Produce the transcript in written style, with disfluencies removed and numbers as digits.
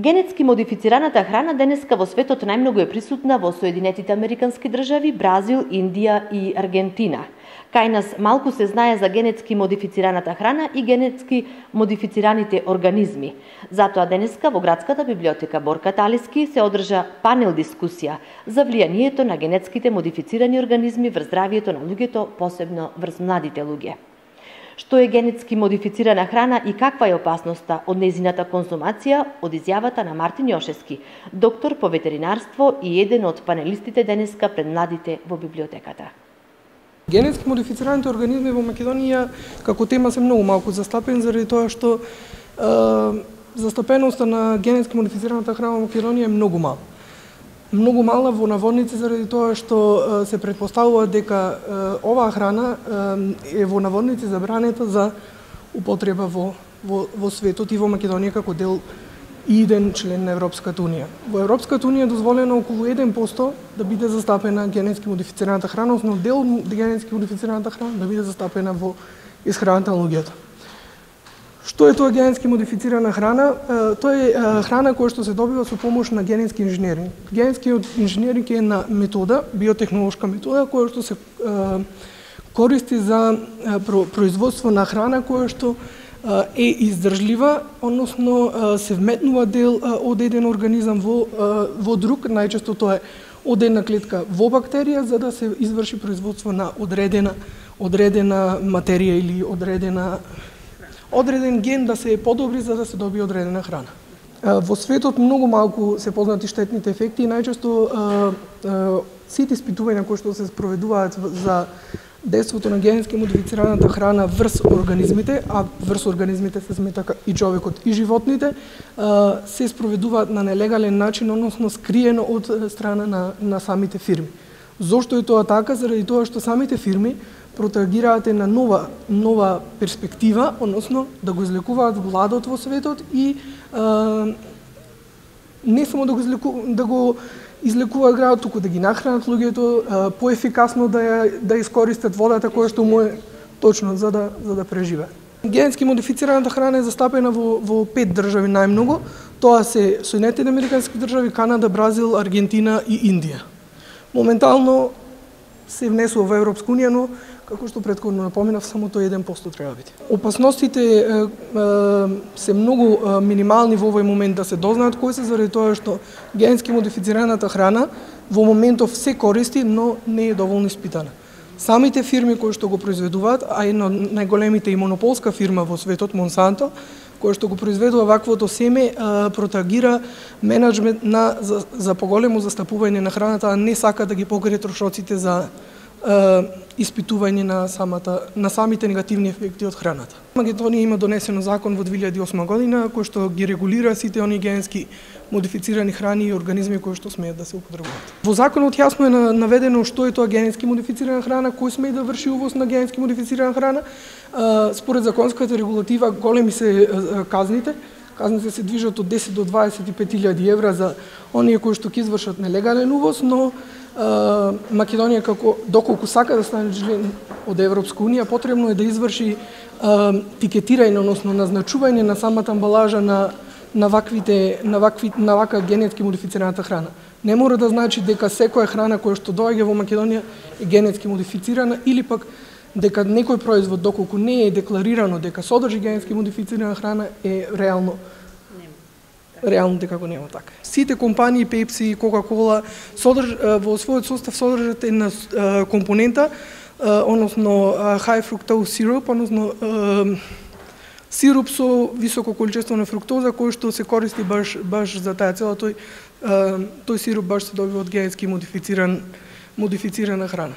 Генетски модифицираната храна денеска во светот најмногу е присутна во Соединетите Американски држави, Бразил, Индија и Аргентина. Кај нас малку се знае за генетски модифицираната храна и генетски модифицираните организми. Затоа денеска во Градската библиотека Борка Талиски се одржа панел дискусија за влијанието на генетските модифицирани организми врз здравието на луѓето, посебно врз младите луѓе. Што е генетски модифицирана храна и каква е опасноста од нејзината конзумација, од изјавата на Мартин Јошевски, доктор по ветеринарство и еден од панелистите денеска пред младите во библиотеката. Генетски модифицираните организми во Македонија како тема се многу малку застапени заради тоа што застапеноста на генетски модифицираната храна во Македонија е многу мала. Многу мала во наводници заради тоа што се претпоставува дека оваа храна е во наводници забранета за употреба во светот и во Македонија како дел и еден член на Европската унија. Во Европската унија е дозволено околу 1% да биде застапена генетски модифицираната храна, односно дел генетски модифицираната храна да биде застапена во исхраната на луѓето. Што е тоа генетски модифицирана храна? Тоа е храна која што се добива со помош на генетски инженеринг. Генетски инженеринг е една метода, биотехнолошка метода, која што се користи за производство на храна која што е издржлива, односно се вметнува дел од еден организам во друг, најчесто тоа е од една клетка во бактерија, за да се изврши производство на одредена материја или одреден ген да се подобри за да се добие одредена храна. Во светот многу малку се познати штетните ефекти и најчесто сите испитувања кои што се спроведуваат за дејството на генетски модифицираната храна врз организмите, а врз организмите се смета и човекот и животните, се спроведуваат на нелегален начин, односно скриено од страна на самите фирми. Зошто е тоа така? Заради тоа што самите фирми протагираат на нова перспектива, односно да го излекуваат гладот во светот и не само да го излекуваат градот, туку да ги нахранат луѓето, поефикасно да искористат водата која што му е точно за да преживеат. Генетски модифицираната храна е застапена во 5 држави најмногу. Тоа се Соединетите Американски држави, Канада, Бразил, Аргентина и Индија. Моментално се внесува во Европска унија, но како што претходно напоменав, само тој 1% треба да биде. Опасностите се многу минимални во овој момент да се дознаат кои се, заради тоа што генетски модифицираната храна во моментов се користи, но не е доволно испитана. Самите фирми кои што го произведуваат, а една од најголемите и монополска фирма во светот, Монсанто, која што го произведува ваквото семе, протагира менеджмент за поголемо застапување на храната, а не сака да ги покрие трошоците за испитување на самите негативни ефекти од храната. Македонија има донесено закон во 2008 година кој што ги регулира сите оние генетски модифицирани храни и организми кои што смеат да се употребуваат. Во законот јасно е наведено што е тоа генетски модифицирана храна, кој смее да врши увоз на генетски модифицирана храна. Според законската регулатива големи се казните. Казните се движат од 10 до 25.000 евра за оние кои што ќе извршат нелегален увоз, но Македонија доколку сака да стане член од Европска унија, потребно е да изврши тикетирање, односно назначување на самата амбалажа на вака генетски модифицираната храна. Не мора да значи дека секоја храна која што доаѓа во Македонија е генетски модифицирана или пак дека некој производ доколку не е декларирано дека содржи генетски модифицирана храна е реално дека го нема така. Сите компании Pepsi и Coca-Cola во својот состав содржат една компонента, односно high fructose syrup, односно сируп со високо количество на фруктоза кој што се користи баш за таа цела. Тој сируп баш се добива од генетски модифицирана храна.